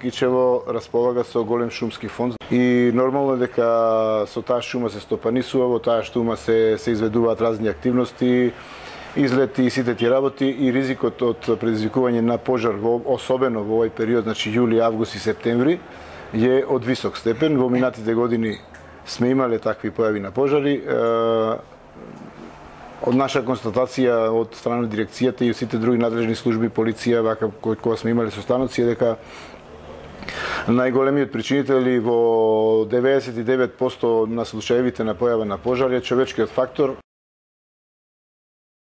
Кичево располага со голем шумски фонд и нормално дека со таа шума се стопанисува, во таа шума се изведуваат разни активности, излети и сите тие работи и ризикот од предизвикување на пожар, особено во овој период, значи јули, август и септември, е од висок степен. Во минатите години сме имале такви појави на пожари. Од наша констатација од страна на дирекцијата и сите други надлежни служби, полиција, вака кога сме имале состаноци, е дека најголемиот причинител во 99% на случаевите на појава на пожар е човечкиот фактор.